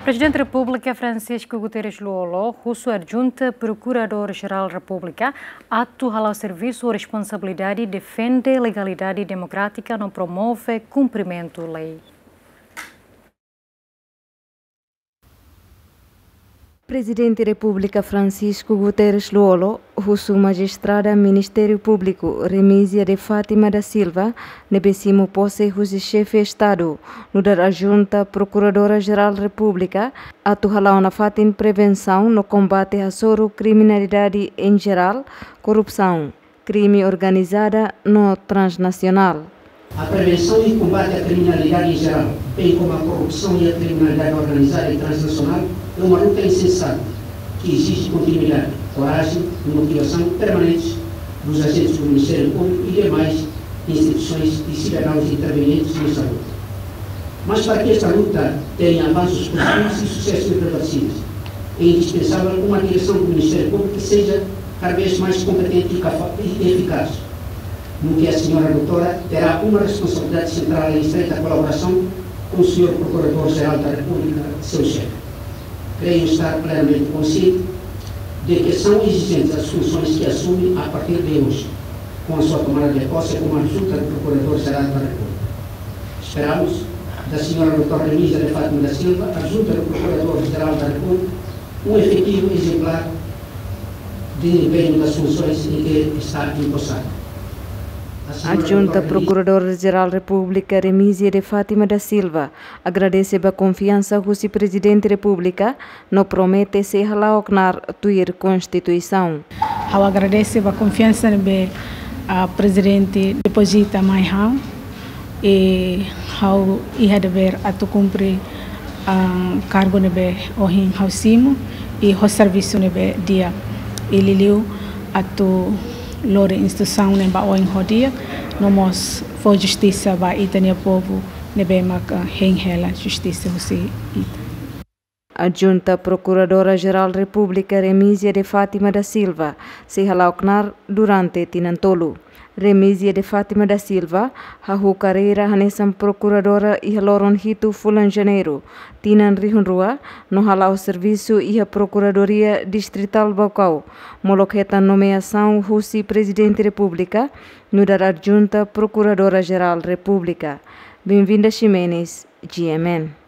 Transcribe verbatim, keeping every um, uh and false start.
Prezidente Repúblika Francisco Guterres Lú-Olo husu Adjunta Prokuradór-Jerál Repúblika atu hala'o servisu ho responsabilidade defende legalidade demokrátika no promove kumprimentu lei. Prezidente Repúblika Francisco Guterres Lú-Olo husu Majistrada Ministériu Públiku Remísia de Fátima da Silva, ne'ebé simu pose husi Xefe Estadu, nu'udar Adjunta Prokuradora-Jerál Repúblika, atu hala'o nafatin prevensaun no kombate hasoru kriminalidade em geral, korrupsaun, krime organizada no transnasionál. A prevenção e combate à criminalidade em geral, bem como à corrupção e à criminalidade organizada e transnacional, é uma luta incessante que exige continuidade, coragem e motivação permanentes dos agentes do Ministério Público e demais instituições e cidadãos intervenientes nessa luta. Mas para que esta luta tenha avanços positivos e sucessos irreversíveis, é indispensável uma direção do Ministério Público que seja cada vez mais competente e cafa-, e eficaz, no que a senhora doutora terá uma responsabilidade central em estreita colaboração com o senhor Procurador-Geral da República, seu chefe. Creio estar plenamente consciente de que são exigentes as funções que assume a partir de hoje, com a sua tomada de posse como Adjunta do Procurador-Geral da República. Esperamos da senhora doutora Remísia de Fátima da Silva, Adjunta do Procurador-Geral da República, um efetivo exemplar de empenho das funções em que está empossada. A senhora Adjunta doutora Remísia Prokuradór-Jerál Repúblika Remísia de Fátima da Silva agradese ba konfiansa husi Prezidente Repúblika no promete sei hala'o knaar tuir Konstituisaun. Ha'u agradese ba konfiansa ne'ebé, ah, Prezidente depozita mai ha'u. I ha'u iha devér atu kumpre, ah, kargu ne'ebé ohin ha'u simu, i ho servisu ne'ebé di'ak, i liuliu atu lori instituisaun ne'e ba oin ho di'ak, no mós fó justisa ba ita-nia povu ne'ebé mak, ah, hein hela justisa husi ita. Adjunta Prokuradora-Jerál Repúblika Remísia de Fátima da Silva sei hala'o knaar durante tinan tolu. Remísia de Fátima da Silva hahú karreira hanesan prokuradora iha loron hitu fulan Janeiru tinan rihun rua, no hala'o servisu iha Prokuradoria Distritál Baucau, molok hetan nomeasaun husi Prezidente Repúblika nu'udar Adjunta Prokuradora-Jerál Repúblika. Benvinda Ximenes, G M N.